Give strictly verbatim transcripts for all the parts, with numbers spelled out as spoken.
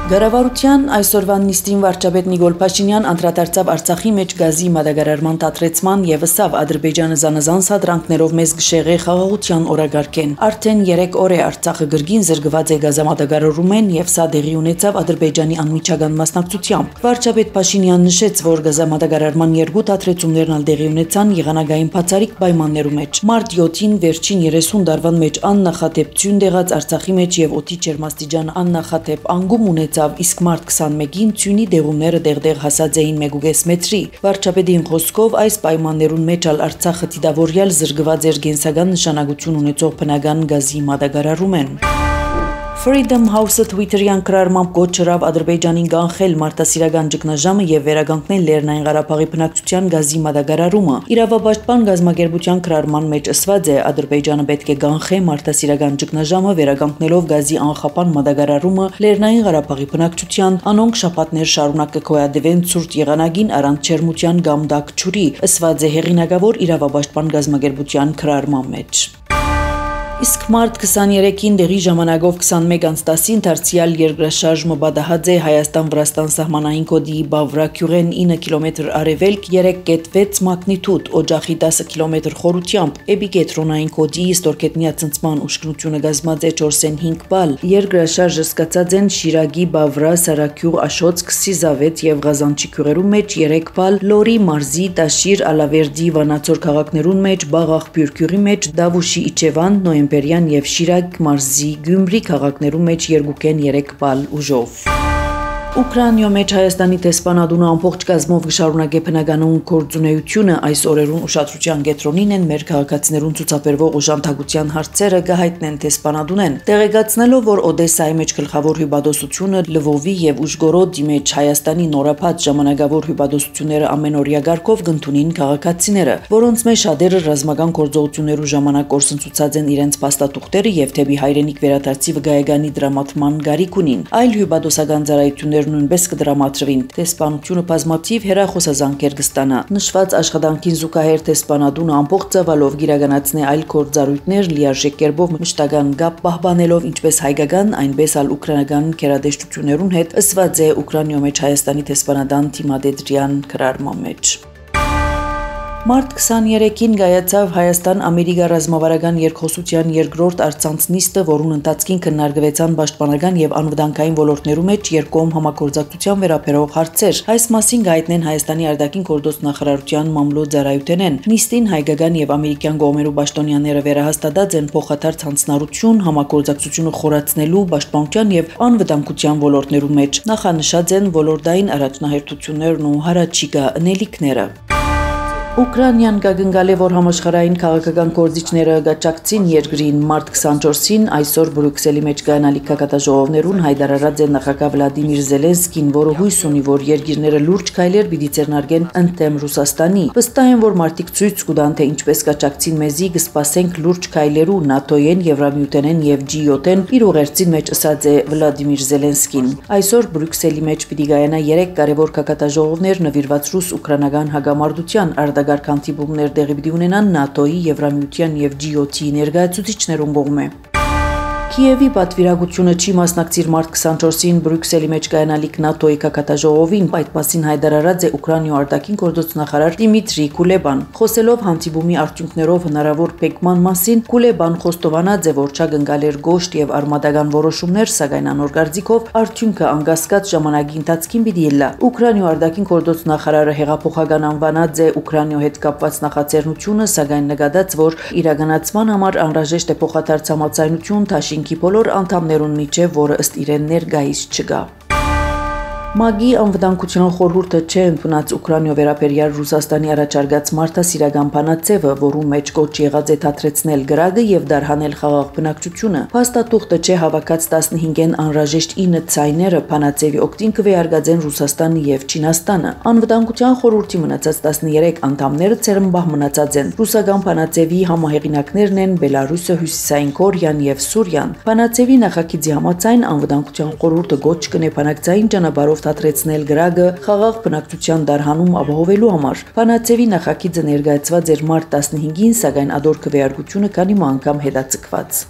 Գարավարության այսօրվան նիստին վարչապետ Նիկոլ Փաշինյան անդրադարձավ Արցախի մեջ գազի մատակարարման դադրեցման եւ ըսավ Ադրբեջանը զանազան սադրանքներով մեզ գշեղե խաղաղության օրագարկեն։ Արդեն երեք օր է Արցախը գրգին զրկված է գազամատակարարումեն եւ սա դեղի ունեցավ Ադրբեջանի անմիջական մասնակցությամբ։ Վարչապետ Փաշինյանն նշեց, որ գազամատակարարման երկու դադրեցումներն ալ դեղի ունեցան եղանակային բացառիկ պայմաններում մեջ։ Մարտ յոթին վերջին երեսուն դարվան մեջ աննախադեպ ցյուն դեղած Արցախի մեջ եւ օդի ջերմաստիճան աննախադեպ անգում ունեցավ, իսկ մարտ քսանմեկին ցյունի դեղումները դեղդեղ հասած էին մեկ ու կես մետրի։ Վարչապետի խոսքով այս պայմաններուն մեջ ալ Արցախը դիտավորյալ զրկված էր կենսական նշանակություն ունեցող բնական գազի մատակարարումեն։ Freedom House-ը Twitter-յան կրառմամբ գոչ չրավ Ադրբեջանին կանխել մարտահրավերական ճգնաժամը եւ վերականգնել Լեռնային Ղարաբաղի բնակչության գազի մատակարարումը։ Իրավապաշտպան գազམ་ակերպության կրառման մեջ ասված է Ադրբեջանը պետք է կանխի մարտահրավերական ճգնաժամը վերականգնելով գազի անխափան մատակարարումը Լեռնային Ղարաբաղի բնակչության, անոնք շաբաթներ շարունակ կգոյատևեն ցուրտ եղանակին առանց ջերմության կամ դակ ջուրի, ասված է հեղինակավոր իրավապաշտպան գազམ་ակերպության կրառման մեջ։ Իսկ մարտ քսաներեքին դեղի ժամանակով քսանմեկ անց տասին դարձյալ երկրաշարժը բադահած է Հայաստան-Վրաստան սահմանային կոդի Բավրաքյուղեն ինը կիլոմետր արևելք երեք կետ վեց մագնիտուդ, օջախի տասը կիլոմետր խորությամբ, էպիկենտրոնային կոդի ստորգետնյա ցնցման ուշքնությունը կազմած է չորսեն հինգ բալ։ Երկրաշարժը սկսած են Շիրագի, Բավրա, Սարաքյուղ, Աշոց, Քսիզավետ եւ Ղազանչի գյուղերում մեջ երեք բալ, Լորի, Մարզի, Տաշիր, Ալավերդի, Վանաձոր քաղաքներուն մեջ, Բաղաղբյուր գյուղի մեջ, Դավուշի, Իջևան, Նոյեմբերյան եւ Շիրակ մարզի Գյումրի քաղաքներում մեջ երկուքեն երեք բալ ուժով։ Ուկրաինայում մեջ Հայաստանի տեսփանադունը ամբողջ կազմով գշարունակե բնականոն գործունեությունը այս օրերուն ուշադրության կենտրոնին են մեր քաղաքացիներուն ցուցաբերվող օժանդակության հարցերը կհայտնեն տեսփանադունեն, տեղեկացնելով, որ Օդեսայի մեջ գլխավոր հյուպատոսությունը Լվովի եւ Ուժգորոդի մեջ Հայաստանի նորապատ ժամանակավոր հյուպատոսությունները ամենօրյա գարկով կընդունին քաղաքացիները, որոնց մեջ շատերը ռազմական գործողություններու ժամանակ կորսնցուցած են իրենց փաստաթուղթերը եւ թեպի հայրենիք վերադարձի վկայականի դրամատման գարիք ունին։ Այլ հյուպատոսական ծառայություններ նույնպես կդրամատրվին։ Տեսփանությունը բազմաթիվ հեռախոսազանգեր կստանա։ Նշված աշխատանքին զուգահեռ տեսփանադունը ամբողջ ծավալով գիրականացնի այլ գործառույթներ լիարժեք կերպով մշտական կապ պահպանելով ինչպես հայկական, այնպես ալ ուկրաինական գերատեսչություններուն հետ, ըսված է Ուկրաինայում մեջ Հայաստանի տեսփանադան Թիմադեդրյան կրառման մեջ։ Մարտ քսաներեքին կայացավ Հայաստան-Ամերիկա ռազմավարական երկխոսության երկրորդ առցանց նիստը, որուն ընթացքին քննարկվեցան պաշտպանական եւ անվտանգային ոլորտներու մեջ երկկողմ համագործակցության վերաբերող հարցեր։ Այս մասին կհայտնեն Հայաստանի արտաքին գործոց նախարարության մամլոյ-ծառայությունեն։ Նիստին հայկական եւ ամերիկյան կողմերու պաշտոնյաները վերահաստատած են փոխադարձ հանձնառություն համագործակցությունը խորացնելու պաշտպանության եւ անվտանգության ոլորտներու մեջ։ Նախանշած են ոլորտային առաջնահերթություններն ու հարաճիգա ընելիքները։ Ուկրաինան կգնգալ է, որ համաշխարհային քաղաքական գործիչները գաճակցին երկրին մարտ քսանչորսին այսօր Բրյուսելի մեջ կայանալիք կակատաժողովներուն հայտարարած է նախագահ Վլադիմիր Զելենսկին, որը հույս ունի, որ երկիրները լուրջ քայլեր պիտի ձեռնարկեն ընդդեմ Ռուսաստանի։ Վստահ են, որ մարդիկ ցույց կտան, թե ինչպես գաճակցին մեզի կսպասենք լուրջ քայլերու ՆԱՏՕ-են, Եվրամիութենեն եւ Ջի յոթ-են իր ուղերձին մեջ ասած է Վլադիմիր Զելենսկին։ Այսօր Բրյուսելի մեջ պիտի կայանա երեք կարևոր կակատաժողովներ նվիրված ռուս-ուկրաինական հագամարտության արտագարկ հանդիպումներ տեղի պիտի ունենան ՆԱՏՕ-ի, Եվրամիության եւ Ջի յոթ-ի ներկայացուցիչներուն կողմէ։ Կիևի պատվիրակությունը չի մասնակցիր մարտ քսանչորսին Բրյուսելի մեջ կայանալիք ՆԱՏՕ-ի կակատաժողովին, այդ մասին հայտարարած է Ուկրաինայի արտաքին գործոց նախարար Դիմիտրի Կուլեբան։ Խոսելով հանդիպումի արդյունքներով հնարավոր փակման մասին, Կուլեբան խոստովանած է, որ չակնկալ էր գոշտ եւ արմատական որոշումներ, սակայն անոր կարծիքով արդյունքը անկասկած ժամանակի ընթացքին պիտի ելնա։ Ուկրաինայի արտաքին գործոց նախարարը հեղափոխական անվանած է Ուկրաինայի հետ կապված նախաձեռնությունը, սակայն նկատած, որ իրականացման համար անհրաժեշտ է փոխադարձ համաձայնություն Թաշինքի բոլոր անդամներուն միջև, որը ըստ իրեն ներկայիս չկա։ ՄԱԳ-ի անվտանգության խորհուրդը չէ ընդունած Ուկրաինայով վերաբերյալ Ռուսաստանի առաջարկած մարտահրավերական բանաձևը, որում մեջ կոչ եղած է դադրեցնել գրագը եւ դարհանել խաղաղ բնակչությունը։ Փաստաթուղթը չէ հավաքած տասնհինգեն անհրաժեշտ ինը ցայները բանաձևի օգտին կվերարգածեն Ռուսաստանը եւ Չինաստանը։ Անվտանգության խորհրդի մնացած տասներեք անդամները ցերմբահ մնացած են։ Ռուսական բանաձևի համահեղինակներն են Բելարուսը, Հյուսիսային Կորեան եւ Սուրիան։ Բանաձևի նախագիծի համաձայն անվտանգության խորհուրդը գոչ կնե բանակցային ճանապարհով դադրեցնել գրագը խաղաղ բնակչության դարհանում ապահովելու համար։ Բանաձևի նախագիծը ներկայացված էր մարտ տասնհինգին, սակայն ադոր քվեարկությունը քանի անգամ հետաձգված։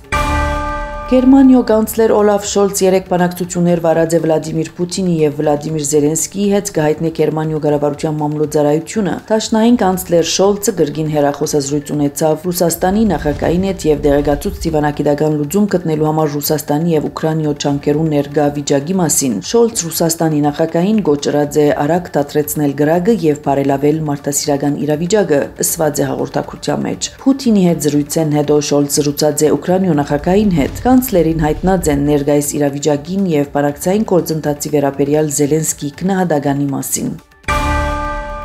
Գերմանիո կանցլեր Օլաֆ Շոլց երեք բանակցություններ վարած է Վլադիմիր Պուտինի եւ Վլադիմիր Զելենսկիի հետ գահիտնե Գերմանիո կառավարության մամլոյցարայությունը։ Տաշնային կանցլեր Շոլցը գրգին հերախոսազրույց ունեցավ Ռուսաստանի նախագահին հետ եւ դեղեկացուց դիվանագիտական լուծում գտնելու համար Ռուսաստանի եւ Ուկրաինայո ճանկերուն ներկա վիճակի մասին։ Շոլց Ռուսաստանի նախագահին գոչրած է արագ դադրեցնել գրագը եւ բարելավել մարդասիրական իրավիճակը, ըսված է հաղորդակցության մեջ։ Պուտինի հետ զրույցեն հետո Շոլց զրուցած է Ուկրաինայո նախագահին հետ։ Կանցլերին հայտնած են ներկայիս իրավիճակին եւ բանակցային գործընթացի վերաբերյալ Զելենսկի քննադատանի մասին։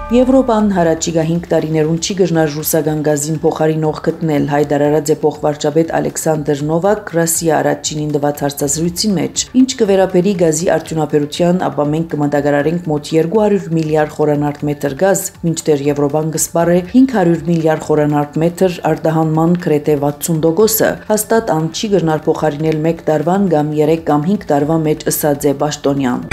Եվրոպան հարաճիգա հինգ տարիներուն չի գժնար ռուսական գազին փոխարինող գտնել, հայտարարած է փոխվարչապետ Ալեքսանդր Նովակ Ռասիա առաջինին տված հարցազրույցին մեջ։ Ինչ կվերապերի գազի արդյունաբերության, ապա մենք կմատակարարենք մոտ երկու հարյուր միլիարդ խորանարդ մետր գազ, մինչդեռ Եվրոպան կսպառե հինգ հարյուր միլիարդ խորանարդ մետր արտահանման գրեթե վաթսուն տոկոսը, հաստատ ան չի գժնար փոխարինել մեկ տարվան կամ երեք կամ հինգ տարվա մեջ, ըսած է Պաշտոնյան։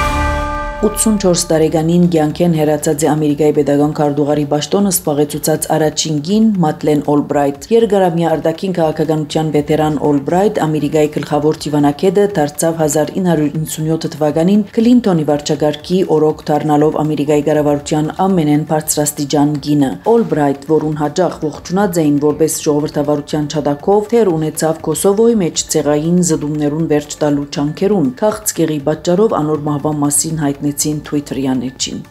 ութսունչորս տարեկանին կյանքեն հեռացած է Ամերիկայի պետական քարտուղարի պաշտոնը զբաղեցուցած առաջին կին Մադլեն Օլբրայթ։ Երկարամյա արտաքին քաղաքականության վետերան Օլբրայթ Ամերիկայի գլխավոր դիվանագետը դարձավ հազար ինը հարյուր իննսունյոթ թվականին Քլինտոնի վարչագահի օրոք դառնալով Ամերիկայի կառավարության ամենեն բարձրաստիճան կինը։ Օլբրայթ, որուն հաջող ողջունած էին որպես ժողովրդավարության չադակով, թեր ունեցավ Կոսովոյի մեջ ցեղային զդումներուն վերջ տալու ճանկերուն։ Քաղցկեղի պատճառով անոր մահվան մասին հայտնեցին Twitter-ի անեջին։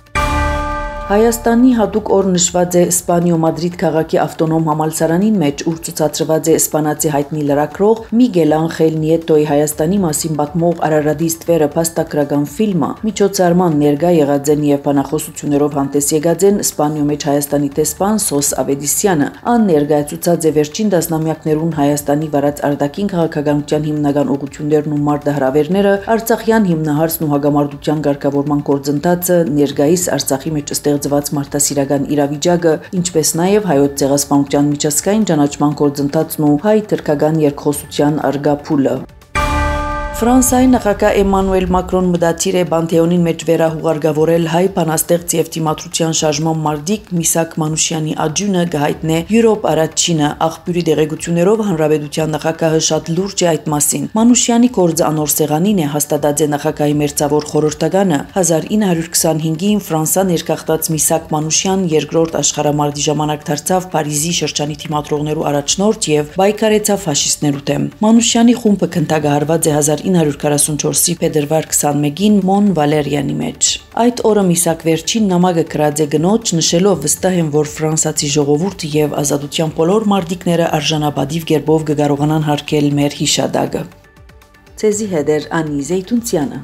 Հայաստանի հատուկ օր նշված է Իսպանիո Մադրիդ քաղաքի ավտոնոմ համալսարանին մեջ, ուր ցուցադրված է իսպանացի հայտնի լրագրող Միգել Անխել Նիետոյի Հայաստանի մասին պատմող Արարատի ստվերը փաստագրական ֆիլմը։ Միջոցառման ներկա եղած են եւ բանախոսություններով հանդես եկած են Իսպանիո մեջ Հայաստանի տեսփան Սոս Ավեդիսյանը։ Ան ներկայացուցած է վերջին տասնամյակներուն Հայաստանի վարած արտաքին քաղաքականության հիմնական ուղղություններն ու մարտահրավերները, Արցախյան հիմնահարցն ու հագամարտության ղեկավարման գործընթացը, ներկայիս Արցախի մեջ ստեղծված մարդասիրական իրավիճակը, ինչպես նաև հայոց ցեղասպանության միջազգային ճանաչման գործընթացն ու հայ-թուրքական երկխոսության արգա փուլը։ Ֆրանսիայի նախագահ Էմանուել Մակրոն մտադիր է Պանթեոնին մեջ վերահուղարկավորել հայ բանաստեղծ եւ դիմադրության շարժման մարտիկ Միսակ Մանուշյանի աջունը գահիտնե Յուրոպ առաջինը աղբյուրի դեղեցություններով հանրապետության նախագահը շատ լուրջ է այդ մասին։ Մանուշյանի կորձը անոր սեղանին է, հաստատած է նախագահի մերձավոր խորհրդականը։ հազար ինը հարյուր քսանհինգին Ֆրանսա ներկախտած Միսակ Մանուշյան երկրորդ աշխարհամարտի ժամանակ դարձավ Փարիզի շրջանի դիմադրողներու առաջնորդ եւ պայքարեցավ ֆաշիստներու դեմ։ Մանուշյանի խումբը քննադատված է հազար ինը հարյուր քառասունչորսի փետրվար քսանմեկին Մոն Վալերյանի մեջ։ Այդ օրը Միսակ վերջին նամակը գրած է գնոջ, նշելով վստահ եմ, որ ֆրանսացի ժողովուրդը եւ ազատության բոլոր մարտիկները արժանապատիվ կերպով կկարողանան հարգել մեր հիշադակը։ Ցեզի հետ էր Անի Զեյթունցյանը։